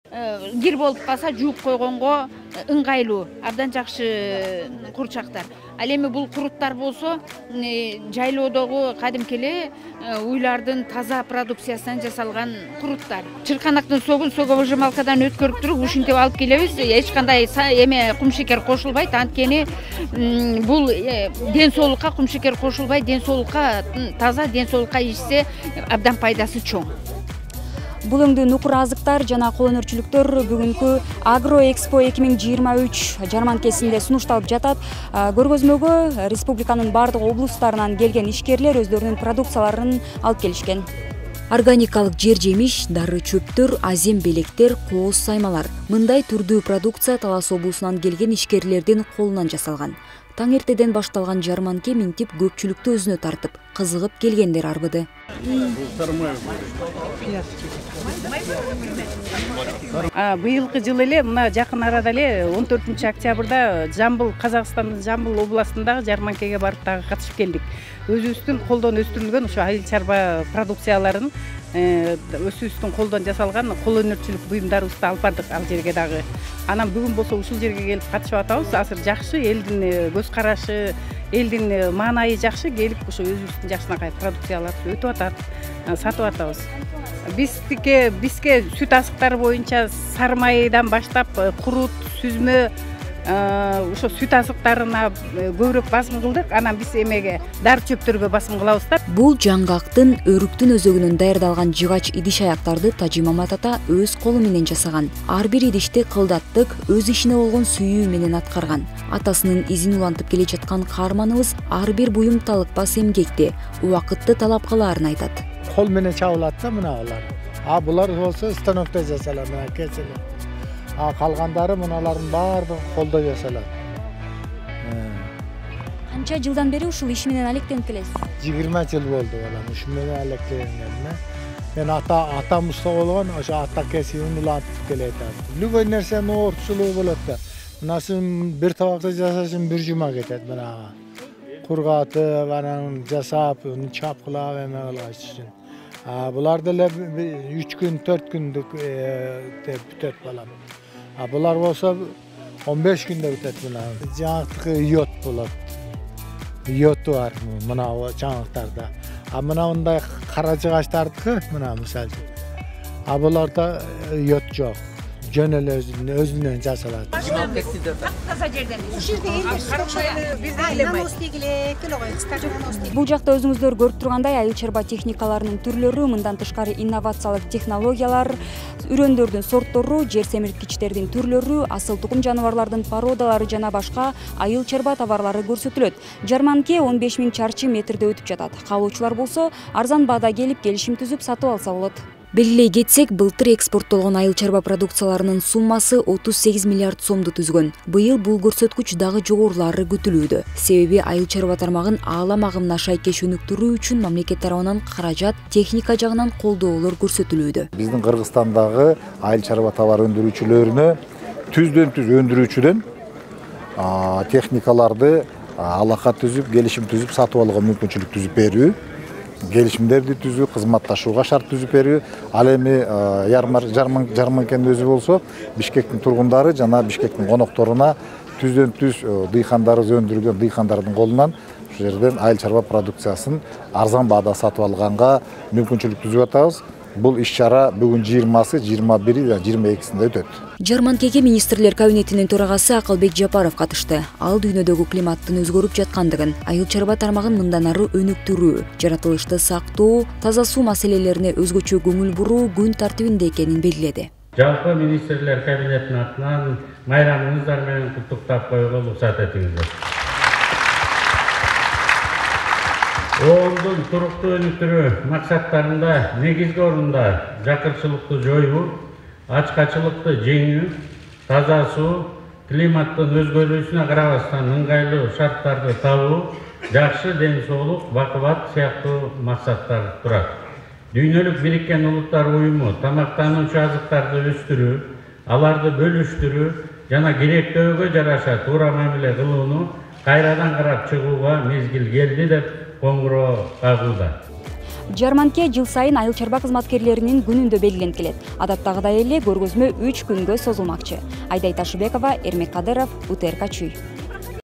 Кир болуп калса жууп койгонго ыңгайлуу, абдан жакшы курчактар. Ал эми бул куруттар болсо жайлоодогу кадимки эле уйлардын таза продукциясынан жасалган куруттар. Чырканактын согун соковыжималкадан өткөрүп туруп ушинтип алып келебиз. Эч кандай эме кумшекер кошулбайт. Анткени бул ден соолукка кумшекер кошулбай, ден соолукка таза, ден соолукка ичсе абдан пайдасы чоң. Бул өңдүү нукур азыктар жана кол өнөрчүлүктөр бүгүнкү Агроэкспо 2023 жарманкесинде сунушталып жатат. Көргөзмөгө республиканын бардык облустарынан келген ишкерлер өздөрүнүн продукцияларын алып келишкен. Органикалык жер жемиш, дары чөптөр, азем белектер, кооз саймалар. Мындай түрдүү продукция Талас облусунан келген ишкерлердин колунан жасалган. Таң эртеден башталган жарманке минтип көпчүлүктү өзүнө тартып, кызыгып келгендер арбыды. Быйылкы жылы эле мына жакын арада эле 14-октябрда Жамбыл, Казакстандын Жамбыл областындагы жарманкеге барып дагы катышып келдик. Өзүбүздүн колдон өстүрүлгөн ошо айыл чарба продукцияларын өзүбүздүн колдон жасалган кол өнөрчүлүк буюмдарыбызды алып бардык ал жерге дагы. Анан бүгүн болсо ушул жерге келип катышып атабыз. Азыр жакшы элдин көз карашы, элдин маанайы жакшы, келип ошо өзүбүздүн жакшынакай продукцияларды өтүп атат, сатып атабыз. Бизге сүт азыктары боюнча сары майдан баштап курут, сүзмө, ошо сүт азыктарына көбүрөөк басым кылдык. Анан биз эмеге дары чөптөргө басым кылабыз да. Бул жаңгактын, өрүктүн өзөгүнөн даярдалган жыгач идиш аяктарды Тажи Мамат ата өз колу менен жасаган. Ар бир идишти кылдаттык, өз ишине болгон сүйүү менен аткарган. Атасынын изин улантып келе жаткан каарманыбыз ар бир буюм талыкпас эмгекти, убакытты талап кылаарын айтат. Кол менен чабылат да мына булар. Булар болсо станокто жасалат, мына кесиле. Калгандары мыналардын баардыгы колдо жасалат. Канча жылдан бери ушул иш менен алектенип келесиз? 20 жыл болду балам, ушул менен алектенгениме. Мен атам уста болгон, ошо ата кесибин улантып келет. Любой нерсенин оорчулугу болот да. Мынасын бир табакты жасашын бир жума кетет мына. Кургатып, анан жасап, чапкылап эме кылган үчүн. Буларды эле 3 күн, 4 күндүк бүтөт балам. Булар болсо 15 күндө бүтөт мына. Жаңактыкы йод болот. Йоду бар мына жаңактарда. Мына мындай кара жыгачтардыкы мына мисалы. Буларда йод жок. Жөн эле өзүнөн жасалат. Таза жерден. Бул жакта өзүңүздөр көрүп тургандай айыл чарба техникаларынын түрлөрү, мындан тышкары инновациялык технологиялар, үрөндөрдүн сорттору, жер семирткичтердин түрлөрү, асыл тукум жаныбарлардын породалары жана башка айыл чарба товарлары көрсөтүлөт. Жарманке 15 000 чарчы метрде өтүп жатат. Каалоочулар болсо арзан баада келип келишим түзүп сатып алса болот. Белгилей кетсек, былтыр экспорттолгон айыл чарба продукцияларынын суммасы 38 миллиард сомду түзгөн. Быйыл бул көрсөткүч дагы жогорулаары күтүлүүдө. Себеби айыл чарба тармагын аалам агымына шайкеш өнүктүрүү үчүн мамлекет тарабынан каражат, техника жагынан колдоолор көрсөтүлүүдө. Биздин Кыргызстандагы айыл чарба товар өндүрүүчүлөрүнө түздөн-түз өндүрүүчүдөн техникаларды алака түзүп, келишим түзүп сатып алууга мүмкүнчүлүк түзүп берүү. Келишимдерди түзүү, кызматташууга шарт түзүп берүү. Ал эми жарманкенин өзү болсо Бишкектин тургундары жана Бишкектин конокторуна түздөн-түз дыйкандарыбыз өндүргөн дыйкандардын колунан ушул жерден айыл чарба продукциясын арзан баада сатып алганга мүмкүнчүлүк түзүп атабыз. Бул иш-чара бүгүн 20-сы, 21-и жана 22-синде өтөт. Жарманкеге министрлер кабинетинин төрагасы Акылбек Жапаров катышты. Ал дүйнөдөгү климаттын өзгөрүп жаткандыгын, айыл чарба тармагын мындан ары өнүктүрүү, жаратылышты сактоо, таза суу маселелерине өзгөчө көңүл буруу күн тартибинде экенин белгиледи. Жалпы министрлер кабинетинин атынан майрамыңыздар менен куттуктап коюуга уруксат этиңиздер. ООНдун туруктуу өнүктүрүү максаттарында негизги орунда жакырчылыкты жоюу, ачкачылыкты жеңүү, таза суу, климаттын өзгөрүүсүнө карабастан ыңгайлуу шарттарды табуу, жакшы ден соолук, бакубат сыяктуу максаттар турат. Дүйнөлүк Бириккен Улуттар уюму тамактануучу азыктарды өстүрүү, аларды бөлүштүрүү жана керектөөгө жараша туура мамиле кылууну кайрадан карап чыгууга мезгил келди деп коңгуроо кагууда. Жарманке жыл сайын айыл чарба кызматкерлеринин күнүндө белгиленип келет. Адаттагыдай эле көргөзмө 3 күнгө созулмакчы. Айдай Ташыбекова, Эрмек Кадыров, УТРК Чүй.